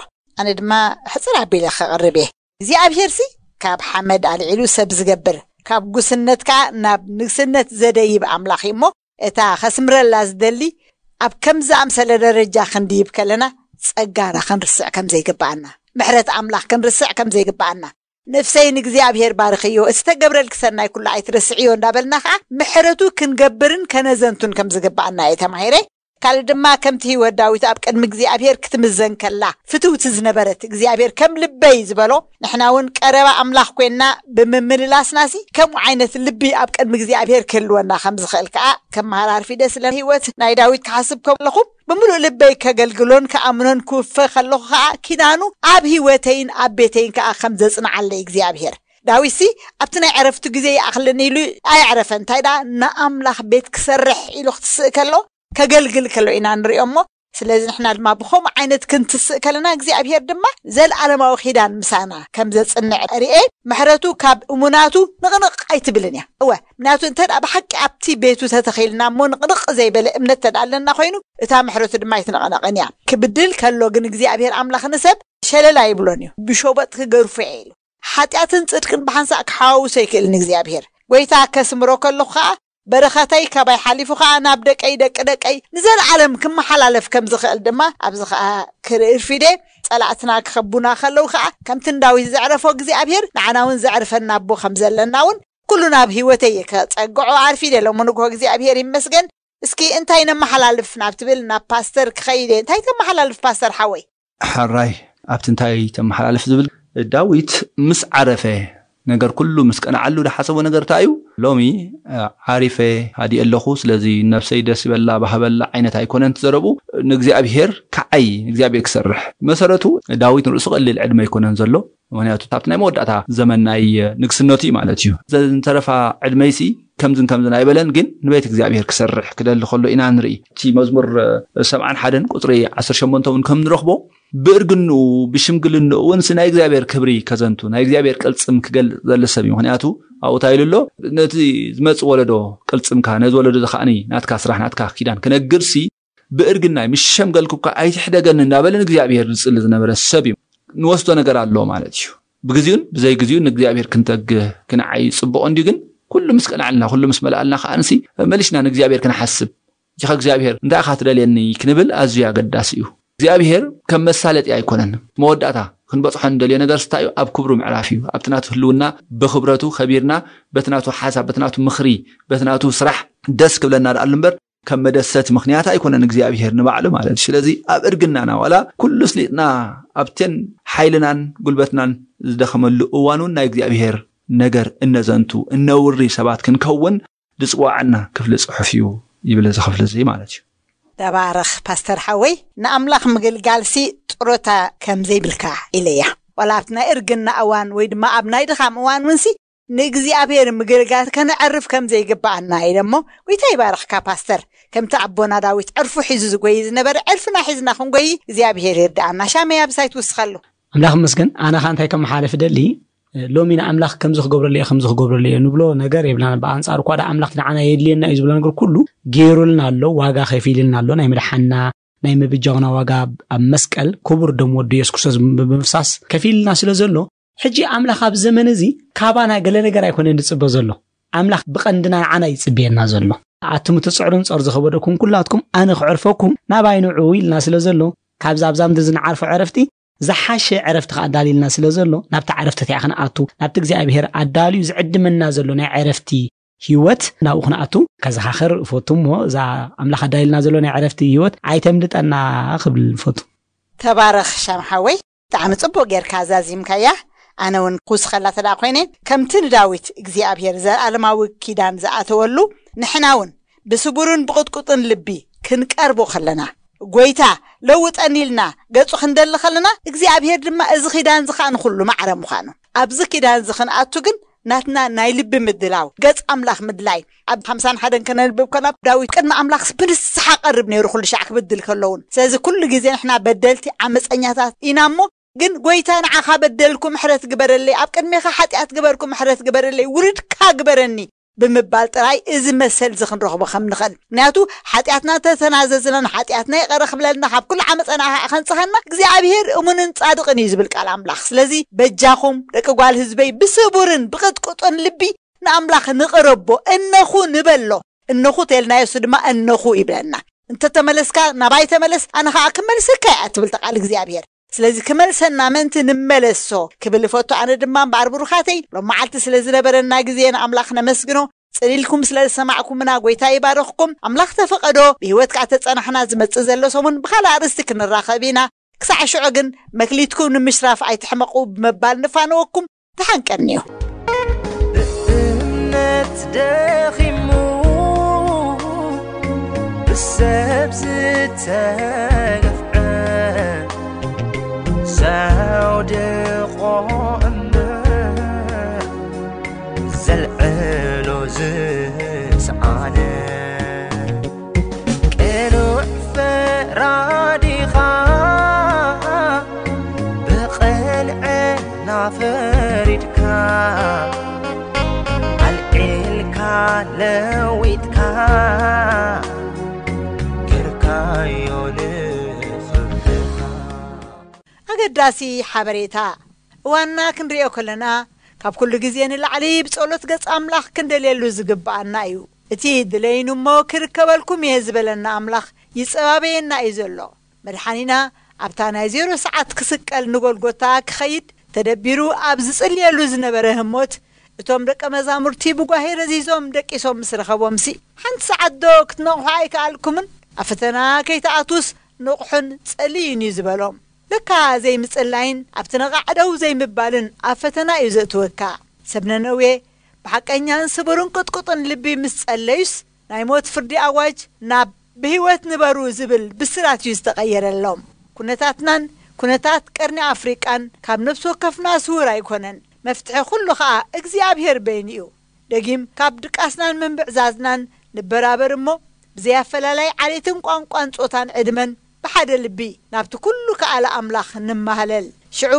ኣነ ድማ ሕጽር ኣቢለ ከቕርብ እየ። እግዚኣብሄርሲ ካብ ሓመድ ኣልዒሉ ሰብ ዝገብር፣ ካብ ጉስነት ከኣ ናብ ንግስነት ዘደይብ ኣምላኽ እዩ እሞ፣ እታ ከስምረላ ዝደሊ፣ ኣብ ከምዚ ኣምሰለ ደረጃ ክንድይብ ከለና ጸጋና ክንርስዕ ከም ዘይግብኣና፣ ምሕረት ኣምላኽ ክንርስዕ ከም ዘይግብኣና፣ ነፍሰይ ንእግዚኣብሔር ባርኽዮ፣ እቲ ተገብረልኪ ሰናይ ኩሉ ኣይትረስዕዮ እንዳበልና ኸዓ ምሕረቱ ክንገብርን ከነዘንቱን ከም ዝግብኣና እየ ተማሂረ። ካልእ ድማ ከምቲ ህይወት ዳዊት ኣብ ቅድሚ እግዚኣብሔር ክትምዘን ከላ ፍትውቲ ዝነበረት፣ እግዚኣብሔር ከም ልበይ ዝበሎ፣ ንሕና እውን ቀረባ ኣምላኽ ኮይንና ብምምልላስናሲ ከምኡ ዓይነት ልቢ ኣብ ቅድሚ እግዚኣብሔር ክህልወና ከም ዝኽእል ከኣ ከመሃራርፊ ደስ ስለ ህይወት ናይ ዳዊት ክሓስብ ከለኹ ብምሉእ ልበይ ከገልግሎን ከኣምኖን ክውፈ ከለኹ ከኣ ኪዳኑ ኣብ ህይወተይን ኣብ ቤተይን ከኣ ከም ዘጽንዓለይ እግዚኣብሔር። ዳዊትሲ ኣብቲ ናይ ዕረፍቱ ግዜ ይኣኽለኒ ኢሉ ኣየዕረፈን። እንታይ ደኣ ንኣምላኽ ቤት ክሰርሕ ኢሉ ክትስእ ከሎ ከገልግል ከሎ ኢና ንሪኦ እሞ፣ ስለዚ ንሕና ድማ ብኸምኡ ዓይነት ክንትስእ ከለና እግዚኣብሔር ድማ ዘለኣለማዊ ኪዳን ምሳና ከም ዘጽንዕ ርኤ። ምሕረቱ ካብ እሙናቱ ንቕንቕ ኣይትብልን እያ። እወ፣ ምክንያቱ እንተ ደኣ ብሓቂ ኣብቲ ቤቱ ተተኺልና እሞ ንቕንቕ ዘይበለ እምነት ተደኣ ኣለና ኮይኑ፣ እታ ምሕረቱ ድማ ኣይትንቕነቕን እያ። ክብድል ከሎ ግን እግዚኣብሔር ኣምላኽ ንሰብ ሸለል ኣይብሎን እዩ። ብሸቦጥ ክገርፎ እየ ኢሉ። ሓጢኣትን ጽድቅን ብሓንሳእ ክሓዋውሶ ኣይክእልን እግዚኣብሔር። ጎይታ ከስምሮ ከለኹ ኸኣ በረኸተይ ካባይ ሓሊፉ ኸኣ ናብ ደቀይ ደቂ ደቀይ ንዘለዓለም ክመሓላለፍ ከም ዝኽእል ድማ ኣብዚ ኸኣ ክርኢ ርፊደ። ጸላእትና ክኸቡና ከለዉ ኸኣ ከምቲ ንዳዊት ዘዕረፎ እግዚኣብሔር ንዓና እውን ዘዕርፈና ኣቦ ከም ዘለና እውን ኩሉ ናብ ህይወተይ ከጸግዖ ኣርፊደ። ሎሚ ንግሆ እግዚኣብሔር ይመስገን። እስኪ እንታይ ነመሓላልፍ ናብ ትብል ናብ ፓስተር ክኸይድ እየ። እንታይ ተመሓላልፍ ፓስተር ሓወይ? ሕራይ ኣብቲ እንታይ ተመሓላልፍ ዝብል ዳዊት ምስ ዓረፈ ነገር ኩሉ ምስ ቀንዓሉ ዝሓሰቦ ነገር እንታይ እዩ? ሎሚ ዓሪፈ ሃዲእ ኣለኹ፣ ስለዚ ነብሰይ ደስ ይበላ ባህበላ ዓይነት ኣይኮነን ትዘረቡ። ንእግዚኣብሔር ከዓይ ንእግዚኣብሔር ክሰርሕ። መሰረቱ ዳዊት ንርእሱ ቀሊል ዕድመ ኣይኮነን ዘሎ። ምክንያቱ ኣብቲ ናይ መወዳእታ ዘመን ናይ ንግስነቱ እዩ ማለት እዩ። ዘንተረፋ ዕድመይሲ ከምዝን ከምዝን ኣይበለን፣ ግን ንቤት እግዚኣብሔር ክሰርሕ ክደሊ ከሎ ኢና ንርኢ። እቲ መዝሙር ሰብዓን ሓደን ቁፅሪ ዓሰርተ ሸሞንተ እውን ከም ንረኽቦ ብእርግንኡ ብሽምግልንኡ እውን ናይ እግዚኣብሔር ክብሪ ከዘንቱ ናይ እግዚኣብሔር ቅልፅም ክገልፅ ዘለ ሰብ እዩ። ምክንያቱ ኣብኡ እንታይ ኢሉ ኣሎ? ነቲ ዝመፅእ ወለዶ ቅልፅምካ ነዚ ወለዶ ዝኸዓኒ ናትካ ስራሕ ናትካ ኪዳን ክነግርሲ ብእርግናይ ምስ ሸምገልኩካ ኣይትሕደገኒ እንዳበለ ንእግዚኣብሔር ዝፅሊ ዝነበረ ሰብ እዩ። ንወስዶ ነገር ኣሎ ማለት እዩ። ብግዚኡን ብዘይ ግዚኡ ንእግዚኣብሔር ክንተግህ ክንዓይ ፅቡቕ እንዲዩ። ግን ኩሉ ምስ ቀናዕልና ኩሉ ምስ መላእልና ከዓንሲ መሊስና ንእግዚኣብሔር ክንሓስብ እኻ እግዚኣብሔር እንታይ ኢኻ ትደልየኒ ክንብል ኣዝዩ ኣገዳሲ እዩ። እግዚኣብሔር ከም መሳለጢ ኣይኮነን። መወዳእታ ክንበፅሖ እንደልዮ ነገር ስታይ እዩ ኣብ ክብሩ ምዕራፍ እዩ። ኣብቲ ናቱ ህልውና ብክብረቱ ከቢርና በቲ ናቱ ሓሳብ በቲ ናቱ ምኽሪ በቲ ናቱ ስራሕ ደስ ክብለና ደኣሉ እምበር ከም መደሰት ምኽንያት ኣይኮነን እግዚኣብሔር ንባዕሉ ማለት እዩ። ስለዚ ኣብ እርግናና ዋላ ኩሉ ስሊጥና ኣብተን ሓይልናን ጉልበትናን ዝደኸመሉ እዋን እውን ናይ እግዚኣብሔር ነገር እነዘንቱ እነውሪ ሰባት ክንከውን ዝፅዋዓና ክፍሊ ፅሑፍ እዩ ይብል እዚ ክፍሊ እዚ ማለት እዩ። ተባረኽ ፓስተር ሓወይ። ንኣምላኽ ምግልጋልሲ ጥሮታ ከም ዘይብልካ ኢለያ። ዋላ ኣብቲ ናይ እርግና እዋን ወይ ድማ ኣብ ናይ ድኻም እዋን ውንሲ ንእግዚኣብሔር ምግልጋል ከነዕርፍ ከም ዘይግብኣና ኢለ እሞ ጎይታ ይባርኽካ ፓስተር። ከምቲ ኣቦና ዳዊት ዕርፉ ሒዙ ዝጎይ ዝነበረ ዕርፍና ሒዝና ክንጎይ እግዚኣብሔር ይርድኣና። ሻመይ ኣብሳይ ትውስኸሉ። ኣምላኽ መስገን። ኣነ ኻ እንታይ ከመሓለፍ ደሊ ሎሚ ንኣምላኽ ከምዚ ክገብረሉ እየ ከምዚ ክገብረሉ እየ ንብሎ ነገር የብላና። ብኣንጻሩ እኳ ደኣ ኣምላኽ ንዓና የድልየና እዩ ዝብሎ ነገር ኩሉ ገይሩልና ኣሎ፣ ዋጋ ከፊልና ኣሎ። ናይ ምድሓንና ናይ ምብጃውና ዋጋ ኣብ መስቀል ክቡር ደም ወዱ የሱስ ክርስቶስ ብምፍሳስ ከፊልና ስለ ዘሎ ሕጂ ኣምላኽ ኣብ ዘመን እዚ ካባና ገለ ነገር ኣይኮነን ዝጽበ ዘሎ። ኣምላኽ ብቐንድና ንዓና ይጽብየና ዘሎ። ኣቱም ትጽዕሩን ጸር ዝኸበደኩም ኩላትኩም ኣነ ክዕርፈኩም ናባይ ንዑ ኢልና ስለ ዘሎ ካብዛ ኣብዛ ምድሪ ዝንዓርፎ ዕረፍቲ ዝሓሸ ዕረፍቲ ከኣ ኣዳልዩልና ስለ ዘሎ ናብቲ ዕረፍቲ እቲኣ ክንኣቱ ናብቲ እግዚኣብሔር ኣዳልዩ ዝዕድመና ዘሎ ናይ ዕረፍቲ ህይወት ናብኡ ክንኣቱ ከዘኻኸር እፈቱ እሞ እዛ ኣምላኽ ኣዳልዩልና ዘሎ ናይ ዕረፍቲ ህይወት ኣይተምልጠና ክብል እፈቱ። ተባረኽ ሻም ሓወይ። ብጣዕሚ ጽቡቕ ጌርካ ዛዚምካያ። ኣነ እውን ክውስኸላ ተደኣ ኮይነ ከምቲ ንዳዊት እግዚኣብሔር ዘለኣለማዊ ኪዳን ዝኣተወሉ ንሕና እውን ብስቡርን ብቕጥቁጥን ልቢ ክንቀርቦ ከለና ጎይታ ለውጠኒ ኢልና ገጹ ክንደሊ ከለና እግዚኣብሔር ድማ እዚ ኪዳን እዚ ከዓ ንኹሉ ማዕረ ምዃኑ ኣብዚ ኪዳን እዚ ክንኣቱ ግን ናትና ናይ ልቢ ምድላው ገጽ ኣምላኽ ምድላይ ኣብ ሓምሳን ሓደን ከነንብብ ከና ዳዊት ቅድሚ ኣምላኽስ ብንስሓ ቀርብ ነይሩ ኩሉ ሻዕ ክብድል ከለውን። ስለዚ ኩሉ ግዜ ንሕና በደልቲ ዓመፀኛታት ኢና እሞ ግን ጎይታ ንዓኻ በደልኩ ምሕረት ግበረለይ፣ ኣብ ቅድሜኻ ሓጢኣት ግበርኩ ምሕረት ግበረለይ፣ ውሉድካ ግበረኒ ብምባል ጥራይ እዚ መሰል እዚ ክንረኽቦ ከም ንኽእል። ምክንያቱ ሓጢኣትና ተተናዘዝና ንሓጢኣትና ይቐረ ክብለልና ካብ ኩሉ ዓመፀና ኸዓ ከንፅኸና እግዚኣብሔር እሙንን ፃድቕን እዩ ዝብል ቃል ኣምላኽ። ስለዚ በጃኹም ደቂ ጓል ህዝበይ ብስቡርን ብቕጥቁጥን ልቢ ንኣምላኽ ንቕረቦ እነኹ ንበሎ። እነኹ ተልናዮ፣ እሱ ድማ እነኹ ይብለና። እንተተመለስካ ናባይ ተመለስ፣ ኣነ ኸዓ ክመልሰካ እየ ትብል ቃል እግዚኣብሔር። ስለዚ ክመልሰና ምእንቲ ንመለሶ ክብል እፈቱ። ኣነ ድማ እምበኣር ብሩኻተይ፣ ሎም መዓልቲ ስለ ዝነበረና ግዜ ንኣምላኽ ነመስግኖ። ጽሊልኩም ስለ ዝሰማዕኩምና ጎይታ ይባርኽኩም። ኣምላኽ ተፈቐዶ ብህይወት ከዓ ተጸናሕና ዝመጽእ ዘሎ ሰሙን ብኻልእ ኣርእስቲ ክንራኸብ ኢና። ክሳዕ ሽዑ ግን መክሊትኩም ንምሽራፍ ኣይትሕመቑ ብምባል ንፋነወኩም። ደሓን ቀንዩ። ብእምነት ደኺሙ ብሰብ ዝተገፍዐ ዘውድቖ እምበር ዘልዕሎ ዝስዓነ ቅኑዕ ፈራዲኻ ብቕንዕና ፈሪድካ ኣልዒልካ ለዊጥካ ገርካዮ ንኽብርኻ። ኣገዳሲ ሓበሬታ። እዋንና ክንሪኦ ከለና ካብ ኩሉ ግዜ ንላዕሊ ብጸሎት ገጽ ኣምላኽ ክንደልየሉ ዝግብኣና እዩ። እቲ ድለይኑ እሞ ክርከበልኩም እየ ዝበለና ኣምላኽ ይጸባበየና እዩ ዘሎ። መድሓኒና ኣብታ ናይ ዜሮ ሰዓት ክስቀል ንጎልጎታ ክኸይድ ተደቢሩ ኣብ ዝጽልየሉ ዝነበረ ህሞት እቶም ደቀ መዛሙርቲ ብጓሄ ረዚዞም ደቂሶም ምስ ረኸቦምሲ ሓንቲ ሰዓት ዶ ክትነቕሑ ኣይከኣልኩምን? ኣብ ፈተና ከይትኣትዉስ ንቕሑን ጸልዩን እዩ ዝበሎም። ለካ ዘይምጽላይን ኣብቲ ነቓዕ ደው ዘይምባልን ኣብ ፈተና እዩ ዘእትወካ። ሰብ ነነዌ ብሓቀኛን ስቡርን ቅጥቁጥን ልቢ ምስ ጸለዩስ ናይ ሞት ፍርዲ ኣዋጅ ናብ ብህይወት ንበሩ ዝብል ብስራት እዩ ዝተቐየረሎም። ኩነታትናን ኩነታት ቀርኒ ኣፍሪቃን ካብ ነፍሲ ወከፍና ስውር ኣይኮነን። መፍትሒ ኩሉ ኸኣ እግዚኣብሔር በይኑ እዩ። ደጊም ካብ ድቃስናን ምንብዕዛዝናን ንበራበር እሞ ብዘይ ኣፈላላይ ዓሌትን ቋንቋን ጾታን ዕድመን ብሓደ ልቢ ናብቲ ኩሉ ከኣለ ኣምላኽ ንማህለል። ሽዑ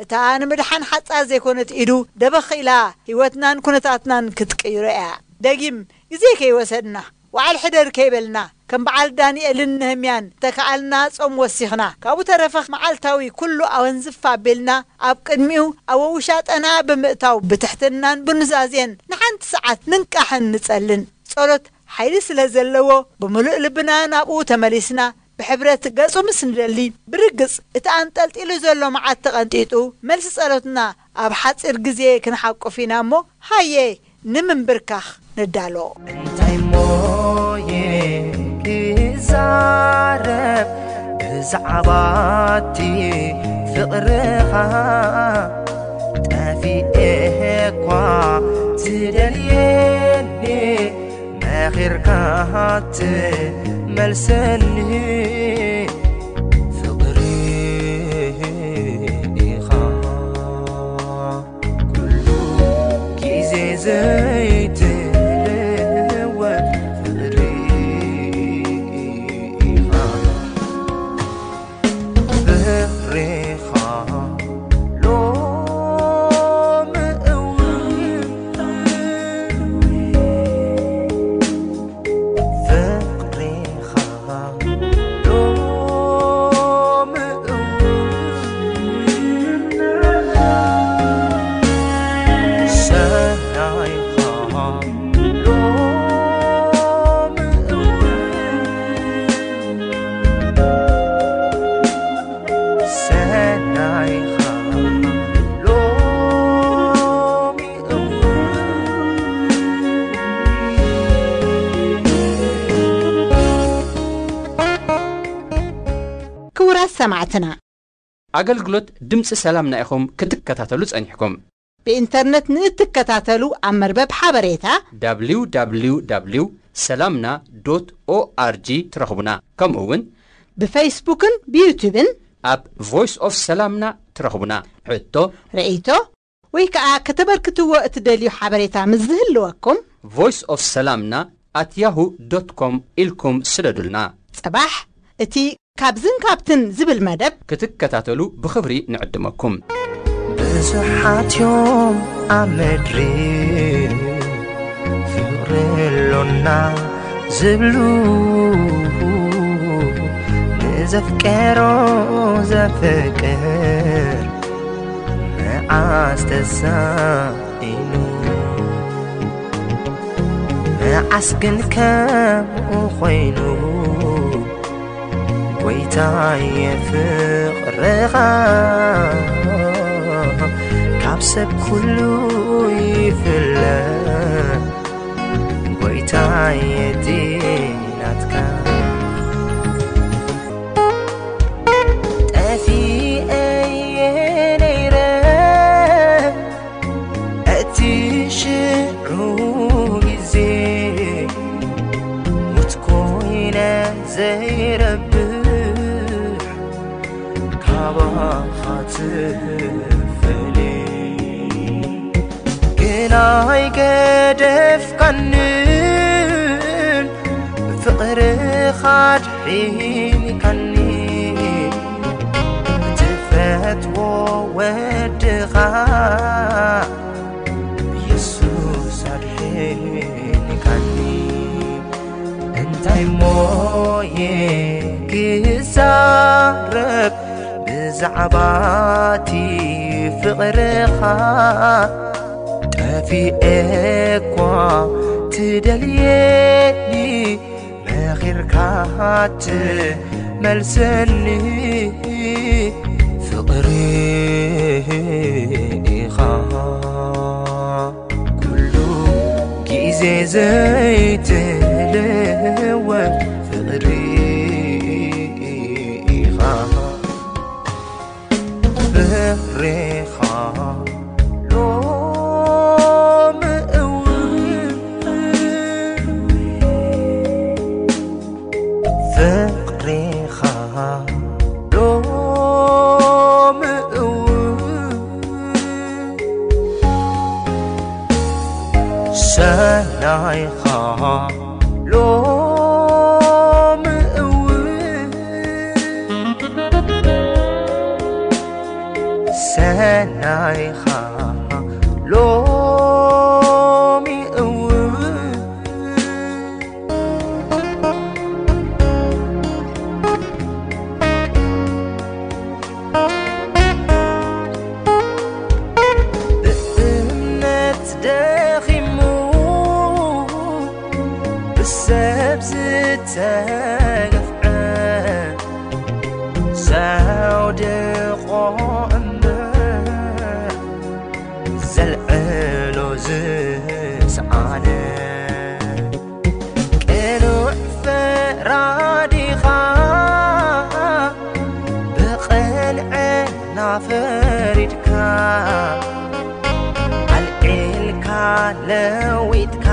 እታ ንምድሓን ሓጻር ዘይኮነት ኢዱ ደበኽ ኢላ ህይወትናን ኩነታትናን ክትቅይሮ እያ። ደጊም ግዜ ከይወሰድና ዋዕል ሕደር ከይበልና ከም በዓል ዳንኤልን ነህምያን ተከኣልና ጾም ወሲኽና ካብኡ ተረፈ መዓልታዊ ኩሉ ኣወንዝፍ ኣቢልና ኣብ ቅድሚኡ ኣብ ውሻጠና ብምእታው ብትሕትናን ብኑዛዜን ንሓንቲ ሰዓት ንንቃሕን ንጸልን። ጸሎት ሓይሊ ስለ ዘለዎ ብምሉእ ልብና ናብኡ ተመሊስና ብሕብረት ገጹ ምስ ንደሊ ብርግጽ እቲ ኣንጠልጢሉ ዘሎ መዓት ተቐንጢጡ መልሲ ጸሎትና ኣብ ሓጺር ግዜ ክንሓቁፍ ኢና እሞ ሃየ ንምንብርካኽ ንዳሎ። እንታይ ሞየ ክዛረብ ብዛዕባቲ ፍቕርኻ ጠፊኤ እኳ ትደልየኒ መኺርካ ትመልሰኒ ፍቕሪ ኢኻ ኩሉ ግዜ ዘይትልወጥ ፍቕሪ ኢኻ ፍቕሪኻ ሎሚ እውን ፍቕሪኻ ሎሚ እውን ሰናይኻ ሎሚ እውን ሰናይኻ ሎሚ እውን ክቡራት ሰማዕትና ኣገልግሎት ድምፂ ሰላምና ኢኹም ክትከታተሉ ጸኒሕኩም። ብኢንተርነት ንእትከታተሉ ኣብ መርበብ ሓበሬታ www ሰላምና ዶት ኦኣርጂ ትረኽቡና። ከምኡ እውን ብፌስቡክን ብዩቱብን ኣብ ቮይስ ኦፍ ሰላምና ትረኽቡና። ሕቶ ርእይቶ ወይ ከዓ ከተበርክትዎ እትደልዩ ሓበሬታ ምስ ዝህልወኩም ቮይስ ኦፍ ሰላምና ኣት ያሁ ዶት ኮም ኢልኩም ስደዱልና። ጽባሕ እቲ ካብዝን ካብትን ዝብል መደብ ክትከታተሉ ብኽብሪ ንዕድመኩም። ብዙሓት እዮም ኣብ ምድሪ ፍቕሪ ኣሎና ዝብሉ ንዘፍቀሮ ዘፍቅር መዓስ ተሳኢኑ ንዓስ ግን ከምኡ ኮይኑ፣ ጎይታየ ፍቕርኻ ካብ ሰብ ኩሉ ይፍለ። ጎይታየ እቲ ናትካ ጠፊኤ ነይረ እቲ ሽዑ ግዜ ሙት ኮይነ ዘይረብሕ ካባኻ ትፈልይ ግና ኣይገደፍካንን ፍቕርኻ ኣድሒንካኒ ትፈትዎ ወድኻ የሱስ ኣድሒንካኒ እንታይ ሞየ ክዛረብ ብዛዕባቲ ፍቕርኻ ጠፊኤ እኳ ትደልየኒ መኺርካ ትመልሰኒ ፍቕሪ ኢኻ ኩሉ ግዜ ዘይትልወጥ ፍቕሪ ኢኻ ፍቕሪኻ ሎሚ እውን ፍቕሪኻ ሎሚ እውን ሰናይኻ ሎሚ እውን ሰናይኻ ሎሚ እውን ብእምነት ደኺሙ ብሰብ ዝተገፍዐ ዘውድቖ እምበር ዘልዕሎ ዝስኣነ ቅኑዕ ፈራዲኻ ብቕንዕና ፈሪድካ ኣልዒልካ ለዊጥካ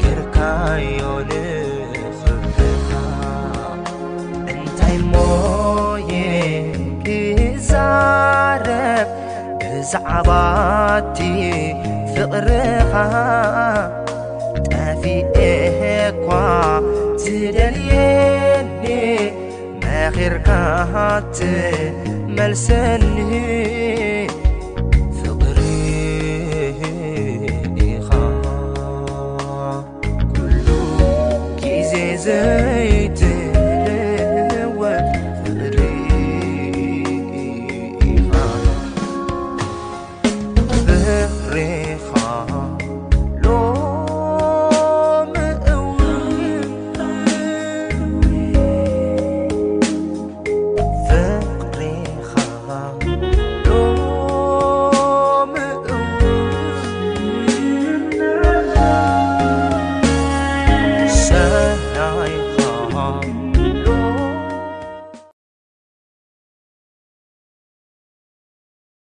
ገርካዮ ንኽብርኻ እንታይ ሞየ ክዛረብ ብዛዕባቲ ፍቕርኻ ጠፊኤ እኳ ትደልየኒ መኺርካ ትመልሰኒ ፍቕሪ ኢኻ ኩሉ ግዜ ዘይት